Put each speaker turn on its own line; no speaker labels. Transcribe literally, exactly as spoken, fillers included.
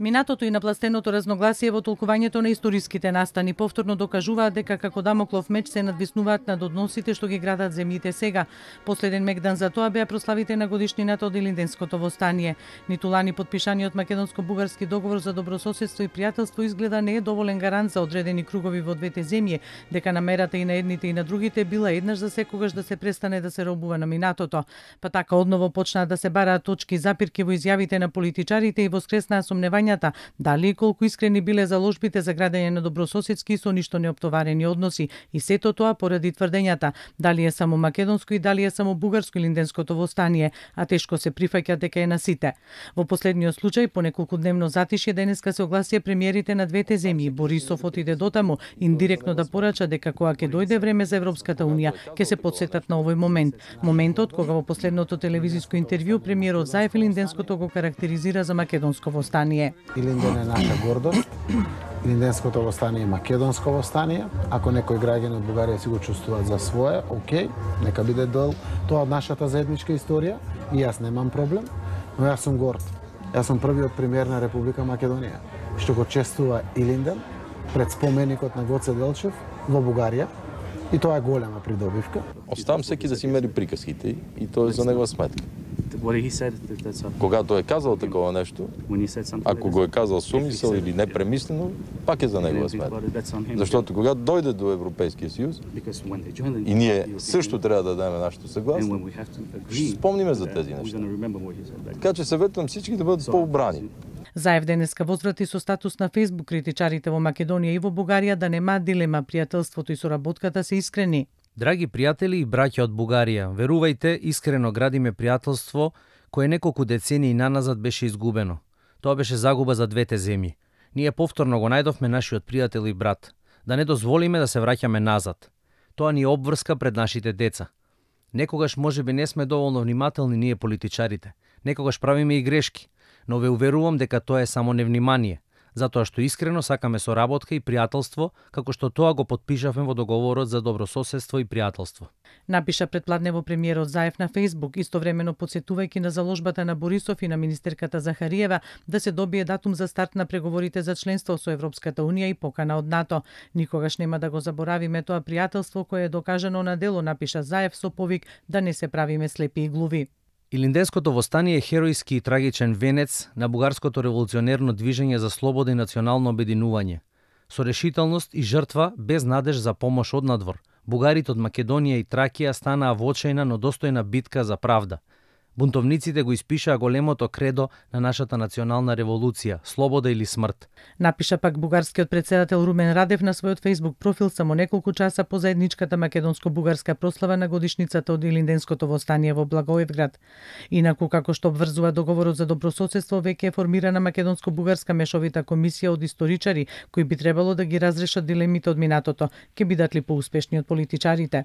Минатото и напластеното разногласие во толкувањето на историските настани повторно докажуваат дека како дамоклов меч се надвиснуваат над односите што ги градат земјите сега. Последен мегдан за тоа беа прославите на годишнината од Илинденското востание. Ниту лани подпишаниот македонско-бугарски договор за добрососедство и пријателство изгледа не е доволен гарант за одредени кругови во двете земји, дека намерата и на едните и на другите била еднаш за секогаш да се престане да се робува на минатото. Па така одново почнаа да се бараат точки запирки во изјавите на политичарите и воскреснаа сомневањата дали и колку искрени биле заложбите за градење на добрососедски и со ништо неоптоварени односи, и сето тоа поради тврдењата дали е само македонско и дали е само бугарско Илинденското востание, а тешко се прифаќа дека е на сите. Во последниот случај, по неколку дневно затишје, денеска се огласија премиерите на двете земји. Борисов отиде дотаму индиректно да порача дека кога ќе дојде време за Европската унија, ќе се потсетат на овој момент. Моментот кога во последното телевизиско интервју премиерот Заев Илинденското го карактеризира за македонско востание.
Илинден е наша гордост. Илинденското востание е македонско востание. Ако некој граѓани од Бугарија си го чувствуваат за свое, окей, нека биде дел тоа од нашата заедничка историја и јас немам проблем, но јас сум горд. Јас сум првиот премиер на Република Македонија што го чествува Илинден пред споменикот на Гоце Делчев во Бугарија. И тоа е голема придобивка.
Оставам секи да си мери приказките и тоа е за негова сметка. Кога тој е казал такова нешто, ако го е казал со умисел или непремислено, пак е за негова сметка. Заштото кога дојде до Европскиот сојуз и ние също треба да дадеме нашето согласие, ќе спомниме за тези нешта. Така че съветувам всички да бъдат поубрани.
Заев денеска возврати со статус на Фејсбук критичарите во Македонија и во Бугарија да нема дилема, пријателството и соработката се искрени.
Драги пријатели и браќа од Бугарија, верувајте, искрено градиме пријателство кое неколку децении наназад беше изгубено. Тоа беше загуба за двете земји. Ние повторно го најдовме нашиот пријател и брат. Да не дозволиме да се враќаме назад. Тоа ни е обврска пред нашите деца. Некогаш можеби не сме доволно внимателни ние политичарите. Некогаш правиме и грешки. Но ве уверувам дека тоа е само невнимание, затоа што искрено сакаме соработка и пријателство, како што тоа го подпишавме во договорот за добрососедство и пријателство.
Напиша предпладнево премиерот Заев на Фејсбук, истовремено потсетувајќи на заложбата на Борисов и на министерката Захариева да се добие датум за старт на преговорите за членство со Европската унија и покана од НАТО. Никогаш нема да го заборавиме тоа пријателство кое е докажано на дело, напиша Заев со повик да не се правиме слепи и глуви.
Илинденското востание е херојски и трагичен венец на бугарското револуционерно движење за слобода и национално обединување. Со решителност и жртва, без надеж за помош однадвор, бугарите од Македонија и Тракија станаа во очајна, но достојна битка за правда. Бунтовниците го испишаа големото кредо на нашата национална револуција – слобода или смрт.
Напиша пак бугарскиот председател Румен Радев на својот Фејсбук профил само неколку часа по заедничката македонско-бугарска прослава на годишницата од Илинденското востание во Благоевград. Инаку, како што обврзува договорот за добрососедство, веќе е формирана македонско-бугарска мешовита комисија од историчари кои би требало да ги разрешат дилемите од минатото. Ке бидат ли поуспешни од политичарите?